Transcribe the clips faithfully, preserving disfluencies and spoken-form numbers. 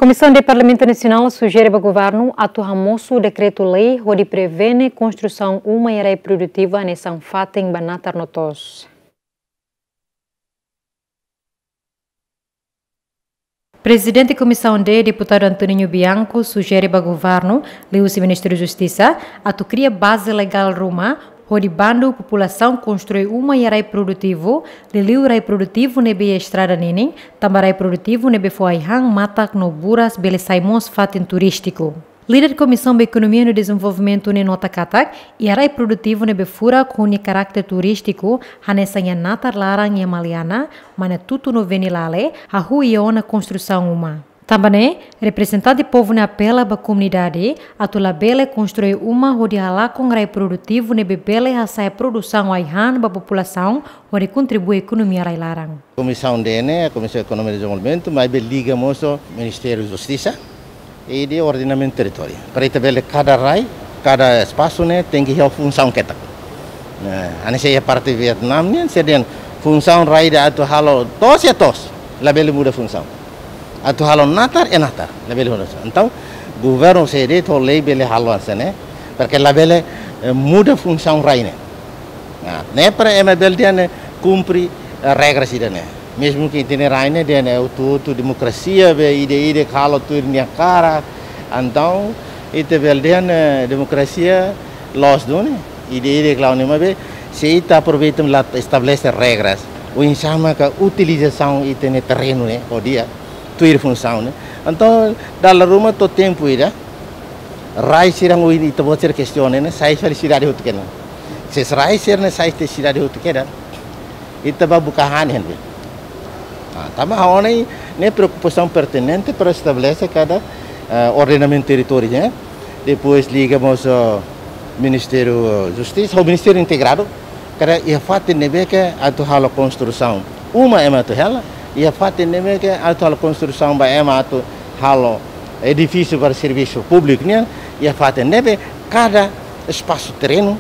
Komisaun D Parlamentu Nasionál sujere ba governu atu hamosu dekretu-lei hodi prevene konstrusaun uma iha rai produtivu hanesan fatin ba natar no to'os. Prezidente Komisaun D, Deputadu Antoninho Bianco, sujere ba governu, liuhusi Ministériu Justisa, atu kria baze legál ruma hodi bandu populasaun konstrui uma iha rai produtivu, liuliu rai produtivu ne'ebé iha estrada ninin, tanba rai produtivu ne'ebé fó ai-han, matak no buras bele sai mós fatin turístiku. Líder Komisaun ba Ekonomia no Dezenvolvimentu ne'e nota katak, iha rai produtivu ne'ebé furak ho nia karakter turístiku, hanesan iha natar laran iha Maliana, Manatuto no Venilale, hahú iha ona konstrusaun uma. Tanba ne'e, reprezentante povu ne'e apela ba komunidade atu labele konstrui uma hodi halakon rai produtivu ne'ebé bele hasa'e produsaun ai-han ba populasaun hodi kontribui ekonomia rai laran. Komisaun D ne'e, Komisaun Ekonomia no Dezenvolvimentu, maibé liga mós ho Ministériu Justisa i de Ordenamentu Territóriu. Para ita bele kada rai, kada espasu ne'e tenke iha funsaun ketak. Nah, hanesan iha parte Vietnam nian, sira dehan funsaun rai ida atu halo to'os iha to'os, labele muda funsaun. Atu halo natar iha natar, labele muda funsaun. Entaun, governu sei de'it ho lei bele halo hanesan ne'e, para ke labele, eh, muda funsaun rai ne'e. Nah, ne'e para ema bele dehan ne'e kumpre, eh, regras ida-ne'e. Mezmu ke ita-nia rai ne'e dehan ne'e hotu-hotu demokrasia be ida-idak halo tuir nia hakarak. Entaun, ita bele dehan ne'e demokrasia loos duni, ida-idak la'o ne'e maibé, se ita aproveita la estabelese regras, oinsá maka utilizasaun ita-nia terrenu ne'e, ho di'ak, tuir funsaun ne'e. Entaun, dala ruma to'o tempu ida, rai sira ohin ita-boot sira kestiona ne'e, sai fali sidade hotu kedan. Se rai sira-ne'e sai tiha sidade hotu kedan, ita bá buka han iha ne'ebé? Ah, tanba ha'u hanoin ne'e preokupasaun pertinente para estabelese kada, eh, ordenamentu territóriu, eh. Depois liga mós ho Ministériu Justisa, ho Ministériu Integradu, kada iha fatin ne'ebé ke atu halo konstrusaun uma ema atu hela, iha fatin ne'ebé ke atu halo konstrusaun ba ema atu halo edifísiu para servisu públiku nian, iha fatin ne'ebé kada espasu terrenu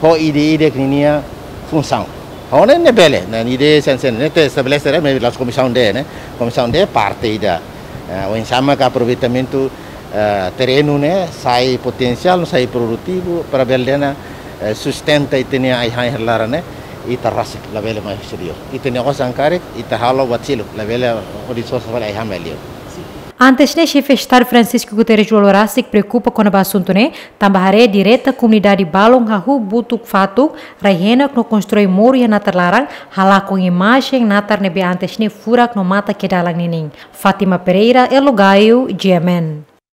ho ida-idak ninia funsaun. Ho ne'e ne'e bele, ne'e ida hanesan ne'e ita estabelese ne'e, maibé la'ós Komisaun D ne'e, Komisaun D parte ida. Eh, oinsá maka aproveitamentu, eh, terrenu ne'e sai potensiál, sai produtivu, para bele dehan, eh, sustenta ita-nia ai-han iha laran ne'e, ita rasik, labele mai husi liur. Ita-nia osan karik, ita halo buat seluk, labele hodi sosa fali ai-han mai liur. Antes ne'e, Xefe Estadu Francisco Guterres Lú-Olo rasik preokupa kona-ba asuntu ne'e, tanba haree direta komunidade balun hahú butuk fatuk, rai henak no konstrui moru iha natar laran, halakon imajen natar ne'ebé antes ne'e furak no matak iha dalan ninin. Fátima Pereira, Elo Gaio, G M N.